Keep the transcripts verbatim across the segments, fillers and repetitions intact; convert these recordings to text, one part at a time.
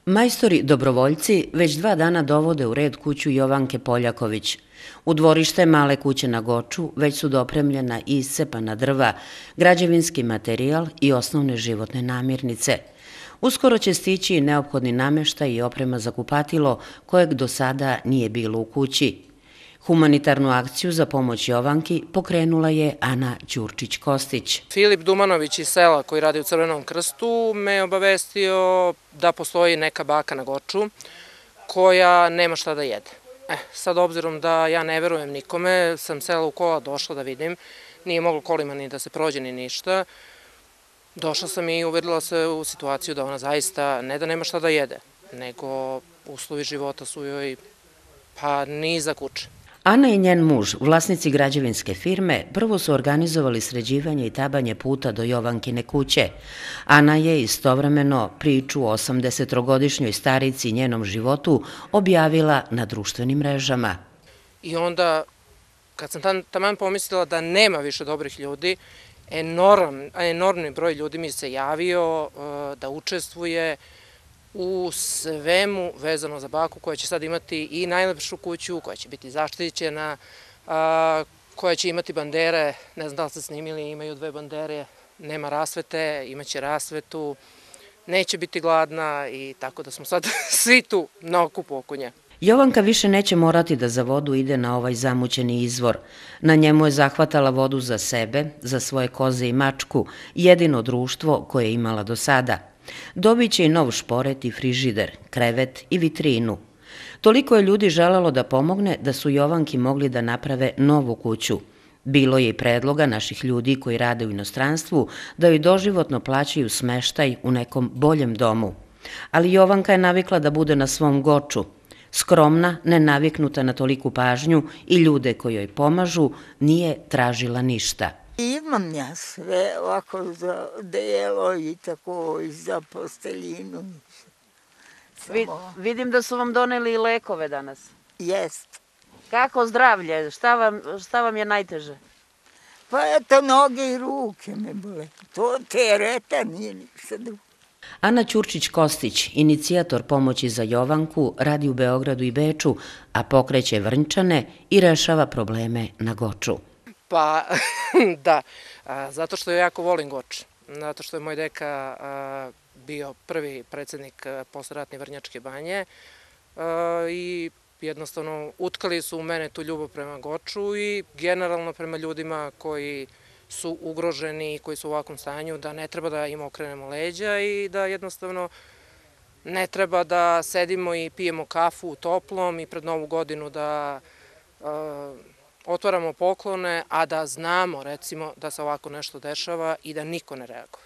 Majstori dobrovoljci već dva dana dovode u red kuću Jovanke Poljaković. U dvorište male kuće na Goču već su dopremljena i iscepana drva, građevinski materijal i osnovne životne namirnice. Uskoro će stići i neophodni namještaj i oprema za kupatilo kojeg do sada nije bilo u kući. Humanitarnu akciju za pomoć Jovanki pokrenula je Ana Ćurčić-Kostić. Filip Dumanović iz sela koji radi u Crvenom krstu me obavestio da postoji neka baka na Goču koja nema šta da jede. E, sad obzirom da ja ne verujem nikome, sam sela u kola došla da vidim, nije moglo kolima ni da se prođe ni ništa. Došla sam i uverila se u situaciju da ona zaista ne da nema šta da jede, nego uslovi života su joj pa ni za kuće. Ana i njen muž, vlasnici građevinske firme, prvo su organizovali sređivanje i tabanje puta do Jovankine kuće. Ana je istovremeno priču o osamdesetogodišnjoj starici i njenom životu objavila na društvenim mrežama. I onda, kad sam taman pomislila da nema više dobrih ljudi, enorm, enormni broj ljudi mi se javio da učestvuje u svemu vezano za baku koja će sad imati i najlepšu kuću, koja će biti zaštićena, koja će imati bandere, ne znam da li ste snimili, imaju dve bandere, nema rasvete, imaće rasvetu, neće biti gladna i tako da smo sad svi tu na okupu oko nje. Jovanka više neće morati da za vodu ide na ovaj zamućeni izvor. Na njemu je zahvatala vodu za sebe, za svoje koze i mačku, jedino društvo koje je imala do sada. Dobit će i nov šporet i frižider, krevet i vitrinu. Toliko je ljudi želelo da pomogne da su Jovanki mogli da naprave novu kuću. Bilo je i predloga naših ljudi koji rade u inostranstvu da joj doživotno plaćaju smeštaj u nekom boljem domu. Ali Jovanka je navikla da bude na svom Goču. Skromna, nenaviknuta na toliku pažnju i ljude koji joj pomažu, nije tražila ništa. Imam ja sve ovako za delo i tako i za posteljinu. Vidim da su vam doneli i lekove danas. Jest. Kako zdravlje? Šta vam, šta vam je najteže? Pa eto, noge i ruke me bole. To tereta nije ništa drugo. Ana Ćurčić-Kostić, inicijator pomoći za Jovanku, radi u Beogradu i Beču, a pokreće Vrnčane i rešava probleme na Goču. Pa da, zato što ja jako volim Goč, zato što je moj deka bio prvi predsjednik posleratne Vrnjačke banje i jednostavno utkali su u mene tu ljubav prema Goču i generalno prema ljudima koji su ugroženi i koji su u ovakvom stanju, da ne treba da im okrenemo leđa i da jednostavno ne treba da sedimo i pijemo kafu u toplom i pred Novu godinu da otvaramo poklone, a da znamo, recimo, da se ovako nešto dešava i da niko ne reaguje.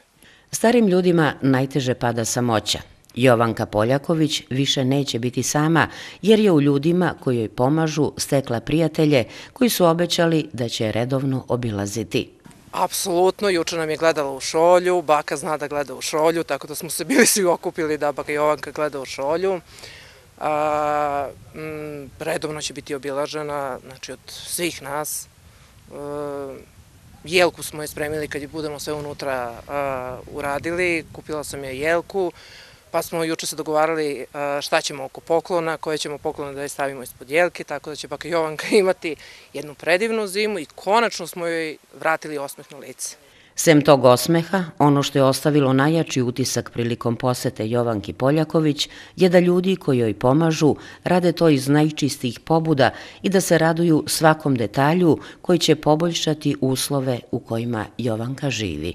Starim ljudima najteže pada samoća. Jovanka Poljaković više neće biti sama, jer je u ljudima koji joj pomažu stekla prijatelje koji su obećali da će redovno obilaziti. Apsolutno, juče nam je gledala u šolju, baka zna da gleda u šolju, tako da smo se bili svi okupili da baka Jovanka gleda u šolju. A, m, redovno će biti obilažena, znači od svih nas. E, jelku smo je spremili kad je budemo sve unutra a, uradili, kupila sam je jelku, pa smo juče se dogovarali a, šta ćemo oko poklona, koje ćemo poklone da je stavimo ispod jelke, tako da će baka Jovanka imati jednu predivnu zimu i konačno smo joj vratili osmeh na lice. Sem tog osmeha, ono što je ostavilo najjači utisak prilikom posete Jovanki Poljaković je da ljudi koji joj pomažu rade to iz najčistijih pobuda i da se raduju svakom detalju koji će poboljšati uslove u kojima Jovanka živi.